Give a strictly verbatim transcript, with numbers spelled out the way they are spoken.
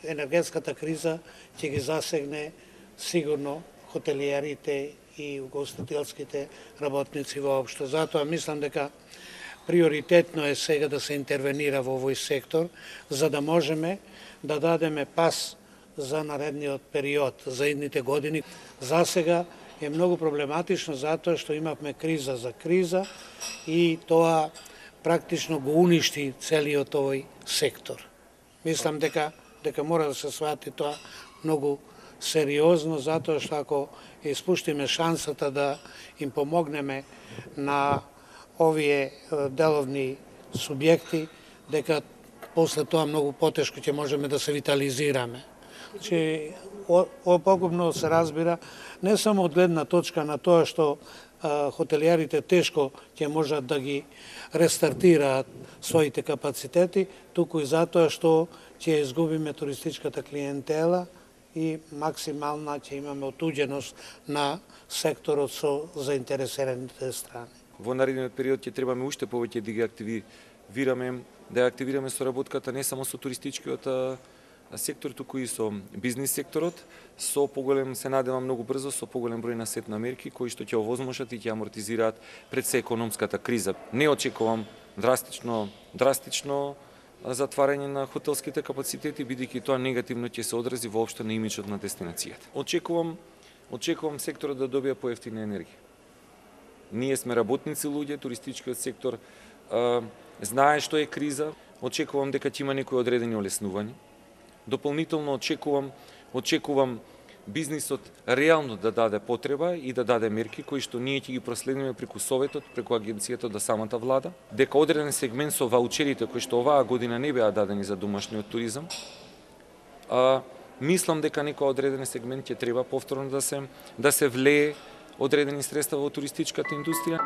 енергетската криза ќе ги засегне сигурно хотелиерите и угостителските работници воопшто. Затоа мислам дека приоритетно е сега да се интервенира во овој сектор, за да можеме да дадеме пас за наредниот период, за идните години. За сега е многу проблематично затоа што имавме криза за криза и тоа практично го уништи целиот овој сектор. Мислам дека дека мора да се свати тоа многу сериозно, затоа што ако испуштиме шансата да им помогнеме на овие деловни субјекти, дека после тоа многу потешко ќе можеме да се витализираме. Че о погубно се разбира не само од гледна точка на тоа што а, хотелиерите тешко ќе можат да ги рестартираат своите капацитети, туку и затоа што ќе изгубиме туристичката клиентела и максимална ќе имаме отуѓеност на секторот со заинтересираните страни. Во наредниот период ќе требаме уште повеќе да ги активираме, да ја активираме соработката не само со туристичкиот сектор, туку и со бизнис секторот, со поголем, се надевам многу брзо, со поголем број на сет на мерки кои што ќе овозможат и ќе амортизираат пред се економската криза. Не очекувам драстично, драстично затварање на хотелските капацитети, бидејќи тоа негативно ќе се одрази воопшто на имиджот на дестинацијата. Очекувам, очекувам секторот да добија поевтина енергија. Ние сме работници луѓе, туристичкиот сектор а, знае што е криза, очекувам дека ќе има некои одредени олеснувања. Дополнително очекувам, очекувам бизнисот реално да даде потреба и да даде мерки кои што ние ќе ги проследиме преку Советот, преку агенцијата до самата влада, дека одреден сегмент со ваучерите кои што оваа година не беа дадени за домашниот туризам, а, мислам дека некој одреден сегмент ќе треба повторно да се да се влее одредени средства во туристичката индустрија.